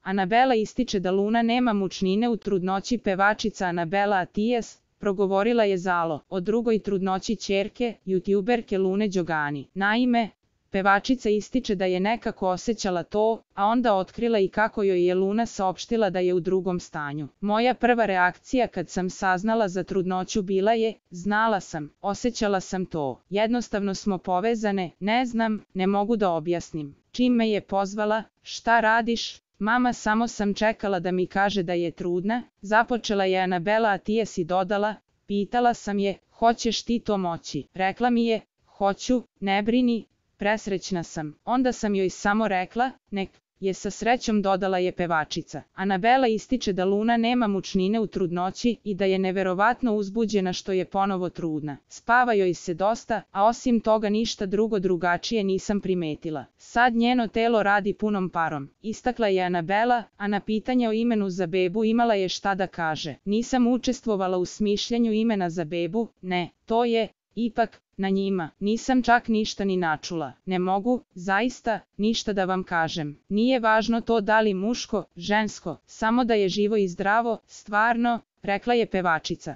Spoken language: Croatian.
Anabela ističe da Luna nema mučnine u trudnoći. Pevačica Anabela Atijas progovorila je Zalo o drugoj trudnoći ćerke, youtuberke Lune Đogani. Naime, pevačica ističe da je nekako osjećala to, a onda otkrila i kako joj je Luna saopštila da je u drugom stanju. Moja prva reakcija kad sam saznala za trudnoću bila je, znala sam, osjećala sam to. Jednostavno smo povezane, ne znam, ne mogu da objasnim. Čim me je pozvala, šta radiš? Mama, samo sam čekala da mi kaže da je trudna, započela je Anabela Atijas i dodala, pitala sam je, hoćeš ti to moći? Rekla mi je, hoću, ne brini, presrećna sam. Onda sam joj samo rekla, nek je sa srećom, dodala je pevačica. Anabela ističe da Luna nema mučnine u trudnoći i da je neverovatno uzbuđena što je ponovo trudna. Spava joj se dosta, a osim toga ništa drugo drugačije nisam primetila. Sad njeno telo radi punom parom, istakla je Anabela, a na pitanje o imenu za bebu imala je šta da kaže. Nisam učestvovala u smišljanju imena za bebu, ne, to je ipak na njima. Nisam čak ništa ni načula. Ne mogu, zaista, ništa da vam kažem. Nije važno to da li muško, žensko, samo da je živo i zdravo, stvarno, rekla je pevačica.